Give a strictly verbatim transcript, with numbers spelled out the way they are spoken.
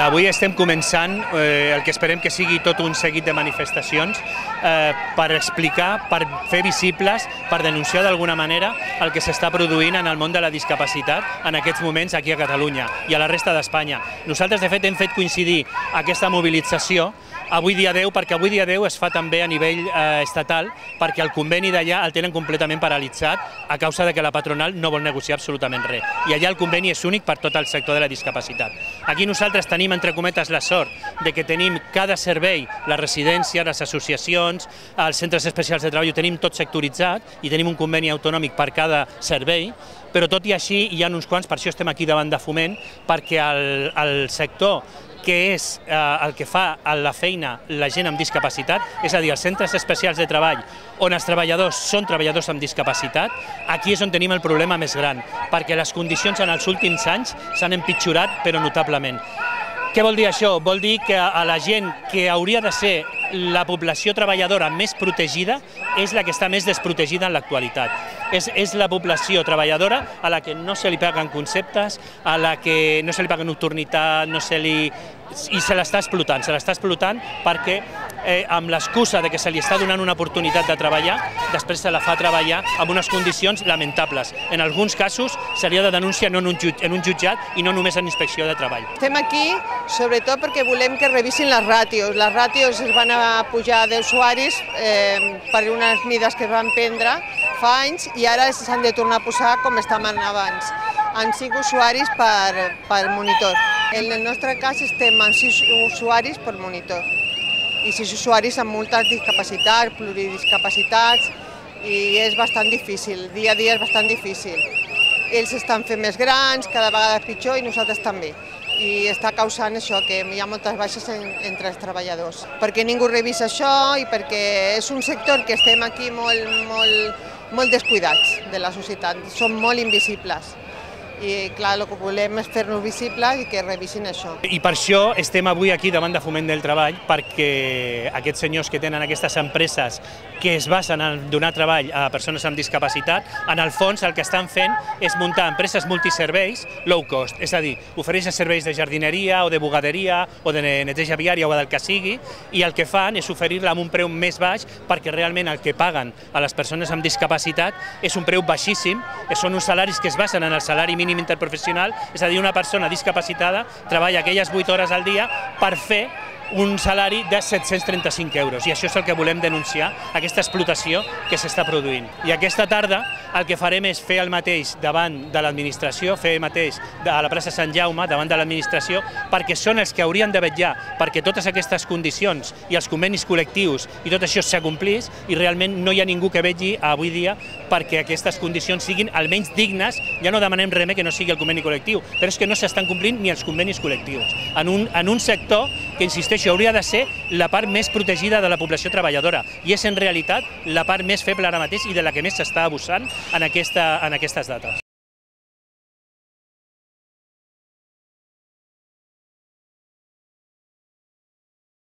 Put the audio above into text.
Avui estem començant eh, el que esperem que sigui tot un seguit de manifestacions eh, per explicar, per fer visibles, per denunciar d'alguna manera el que s'està produint en el món de la discapacitat en aquests moments aquí a Catalunya i a la resta d'Espanya. Nosaltres, de fet, hem fet coincidir aquesta mobilització avui dia deu, perquè avui dia deu es fa també a nivell eh, estatal, perquè el conveni d'allà el tenen completament paralitzat a causa de que la patronal no vol negociar absolutament res. I allà el conveni és únic per tot el sector de la discapacitat. Aquí nosaltres tenim, entre cometes, la sort de que tenim cada servei, la residència, les associacions, els centres especials de treball, ho tenim tot sectoritzat i tenim un conveni autonòmic per cada servei, però tot i així hi ha uns quants, per això estem aquí davant de Foment, perquè el, el sector que és eh, el que fa la feina la gent amb discapacitat, és a dir, els centres especials de treball on els treballadors són treballadors amb discapacitat, aquí és on tenim el problema més gran, perquè les condicions en els últims anys s'han empitjorat però notablement. Què vol dir això? Vol dir que a la gent que hauria de ser la població treballadora més protegida és la que està més desprotegida en l'actualitat. És, és la població treballadora a la que no se li paguen conceptes, a la que no se li paga nocturnitat, no se li... i se l'està explotant, se l'està explotant perquè eh, amb l'excusa de que se li està donant una oportunitat de treballar, després se la fa treballar amb unes condicions lamentables. En alguns casos seria de denúncia no en un, jutj, en un jutjat i no només en inspecció de treball. Estem aquí sobretot perquè volem que revisin les ràtios. Les ràtios es van a pujar d'usuaris eh, per unes mides que es van prendre fa anys i ara s'han de tornar a posar com estaven abans, en cinc usuaris per, per monitor. En el nostre cas estem amb sis usuaris per monitor i sis usuaris amb moltes discapacitats, pluridiscapacitats, i és bastant difícil, dia a dia és bastant difícil. Ells estan fent més grans, cada vegada és pitjor i nosaltres també. I està causant això, que hi ha moltes baixes en, entre els treballadors. Perquè ningú revisa això i perquè és un sector que estem aquí molt, molt, molt descuidats de la societat, som molt invisibles. I clar, el que volem és fer-nos visibles i que revisin això. I per això estem avui aquí davant de Foment del Treball, perquè aquests senyors que tenen aquestes empreses que es basen en donar treball a persones amb discapacitat, en el fons el que estan fent és muntar empreses multiserveis low cost, és a dir, ofereixen serveis de jardineria o de bugaderia o de neteja viària o del que sigui, i el que fan és oferir-la amb un preu més baix perquè realment el que paguen a les persones amb discapacitat és un preu baixíssim, són uns salaris que es basen en el salari mínim interprofessional, és a dir, una persona discapacitada treballa aquelles vuit hores al dia per fer un salari de set-cents trenta-cinc euros, i això és el que volem denunciar, aquesta explotació que s'està produint. I aquesta tarda el que farem és fer el mateix davant de l'administració, fer el mateix a la plaça Sant Jaume, davant de l'administració, perquè són els que haurien de vetllar perquè totes aquestes condicions i els convenis col·lectius i tot això s'acomplís, i realment no hi ha ningú que vetlli avui dia perquè aquestes condicions siguin almenys dignes. Ja no demanem res més que no sigui el conveni col·lectiu, però és que no s'estan complint ni els convenis col·lectius. En un, en un sector que, insisteixo, hauria de ser la part més protegida de la població treballadora, i és en realitat la part més feble ara mateix i de la que més s'està abusant en, aquesta, en aquestes dates.